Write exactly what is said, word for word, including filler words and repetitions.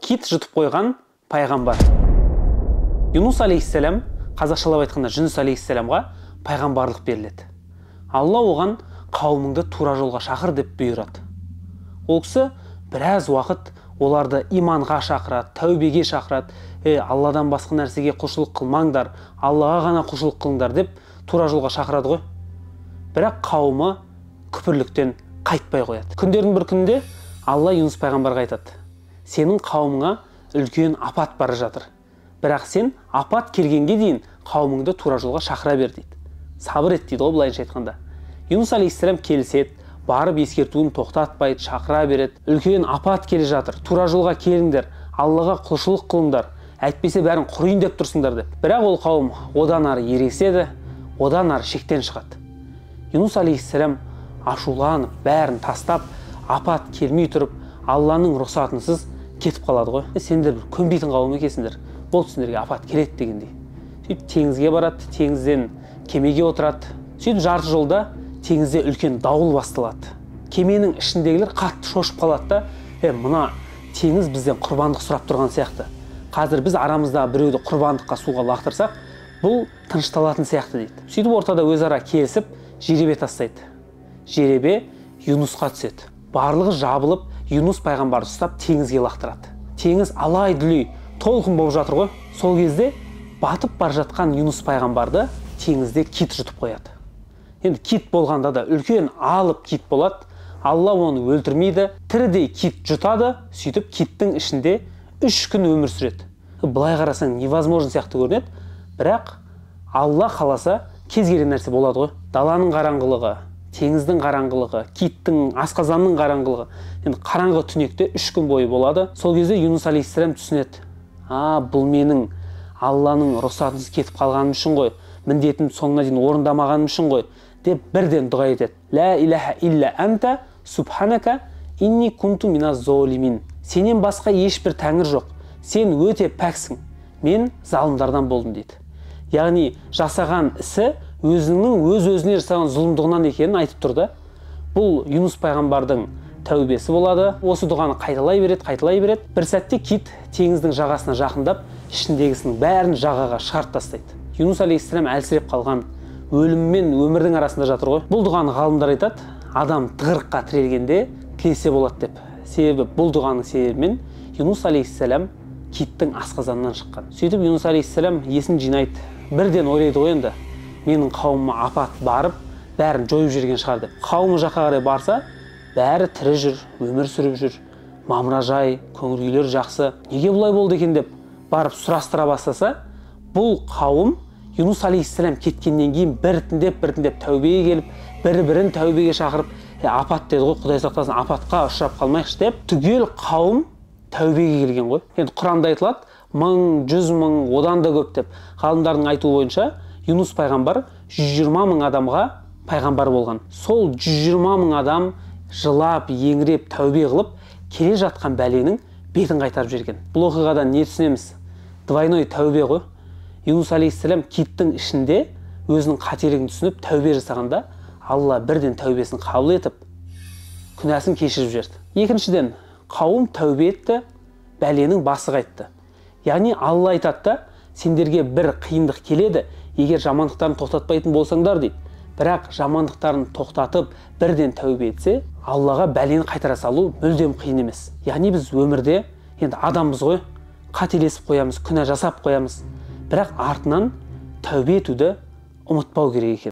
кит жұтып қойған пайғамбар. Юнус алейхиссалам, қазақшалап айтқанда Жүніс алейхиссаламға пайғамбарлық беріледі. Алла оған қауымыңды тура жолға шақыр деп бұйырады. Ол кісі біраз уақыт оларды иманға шақырады, тәубеге шақырады. Е, Алладан басқа нәрсеге құлшылық қылмаңдар, Аллаға ғана құлшылық қылыңдар деп тура жолға шақырады ғой. Бірақ қауымы күпірліктен қайтпай қояды. Күндердің бір күнінде Алла Юнус пайғамбарға айтады: сенің қауымыңа үлкен апат бара жатыр. Бірақ сен апат келгенге дейін қауымыңды тура жолға шақыра бер дейді. Сабыр ет дейді ғой, былайынша айтқанда. Юнус алейхиссалам келіседі, барып ескертуін тоқтатпайды, шақыра береді. Үлкен апат келе жатыр, тура жолға келіңдер, Аллаға құлшылық қылыңдар, әйтпесе бәрін құрайын деп тұрсыңдар деп. Бірақ ол қауым одан ары ерегіседі, одан ары шектен шығады. Юнус алейхиссалам ашуланып, бәрін тастап, апат келмей тұрып, Алланың рұқсатынсыз кетіп қалады ғой. Сендер бір көнбейтін қауым екенсіңдер, болды сендерге апат келеді дегендей. Сөйтіп теңізге барады, теңізден кемеге отырады. Сөйтіп жарты жолда теңізде үлкен дауыл басталады. Кеменің ішіндегілер қатты шошып қалады да, е, мына теңіз бізден құрбандық сұрап тұрған сияқты. Қазір біз арамызда біреуді құрбандыққа суға лақтырсақ, бұл тынышталатын сияқты дейді. Сөйтіп ортада өзара келісіп, жеребе тастайды. Жеребе Юнусқа түседі. Барлығы жабылып, Юнус пайғамбарды ұстап теңізге лақтырады. Теңіз алай-дүлей толқын болып жатыр ғой. Сол кезде батып бара жатқан Юнус пайғамбарды теңізде кит жұтып қояды. Енді кит болғанда да үлкен алып кит болады. Алла оны өлтірмейді, тірідей кит жұтады, сөйтіп киттің ішінде үш күн өмір сүреді. Былай қарасаң невозможно сияқты көрінеді, бірақ Алла қаласа кез келген нәрсе болады ғой. Даланың қараңғылығы, теңіздің қараңғылығы, киттің, асқазанның қараңғылығы. Енді қараңғы түнекте үш күн бойы болады. Сол кезде Юнус алейхиссалам түсінеді: а, бұл менің Алланың рұқсатынсыз кетіп қалғаным үшін ғой, міндетімді соңына дейін орындамағаным үшін ғой деп бірден дұға етеді. Ла илаха илля анта субханака инни кунту миназ золимин. Сенен басқа ешбір тәңір жоқ. Сен өте пәксің. Мен залымдардан болдым дейді. Яғни жасаған ісі өзінің өз-өзіне жасаған зұлымдығынан екенін айтып тұрды. Бұл Юнус пайғамбардың тәубесі болады. Осы дұғаны қайталай береді, қайталай береді. Бір сәтте кит теңіздің жағасына жақындап, ішіндегісінің бәрін жағаға шығарып тастайды. Юнус алейхиссалам әлсіреп қалған, өлім мен өмірдің арасында жатыр ғой. Бұл дұғаны ғалымдар айтады, адам тығырыққа тірелгенде тілесе болады деп. Себебі бұл дұғаның себебімен Юнус алейхиссалам киттің асқазанынан шыққан. Сөйтіп Юнус алейхиссалам есін жинайды. Бірден ойлайды ғой енді, менің қауымыма апат барып, бәрін жойып жүрген шығар деп. Қауымы жаққа қарай барса, бәрі тірі жүр, өмір сүріп жүр, мамыражай, көңіл күйлері жақсы. Неге бұлай болды екен деп барып сұрастыра бастаса, бұл қауым Юнус алейхиссалам кеткеннен кейін біртіндеп біртіндеп тәубеге келіп, бір-бірін тәубеге шақырып, е, апат деді ғой, Құдай сақтасын, апатқа ұшырап қалмайықшы деп, түгел қауым тәубеге келген ғой. Енді Құранда айтылады, мың, жүз мың, одан да көп деп. Ғалымдардың айтуы бойынша, Юнус пайғамбар жүз жиырма мың адамға пайғамбар болған. Сол жүз жиырма мың адам жылап, еңіреп, тәубе қылып, келе жатқан бәленің бетін қайтарып жүрген. Бұл оқиғадан не түсінеміз? Двойной тәубе ғой. Юнус алейхиссалам киттің ішінде өзінің қателігін түсініп тәубе жасағанда, Алла бірден тәубесін қабыл етіп, күнәсін кешіріп жіберді. Екіншіден, қауым тәубе етті, бәленің басы қайтты. Яғни Алла айтады да, сендерге бір қиындық келеді, егер жамандықтарын тоқтатпайтын болсаңдар дейді. Бірақ жамандықтарын тоқтатып, бірден тәубе етсе, Аллаға бәлені қайтара салу мүлдем қиын емес. Яғни біз өмірде енді адамбыз ғой, қателесіп қоямыз, күнә жасап қоямыз. Бірақ артынан тәубе етуді ұмытпау керек екен.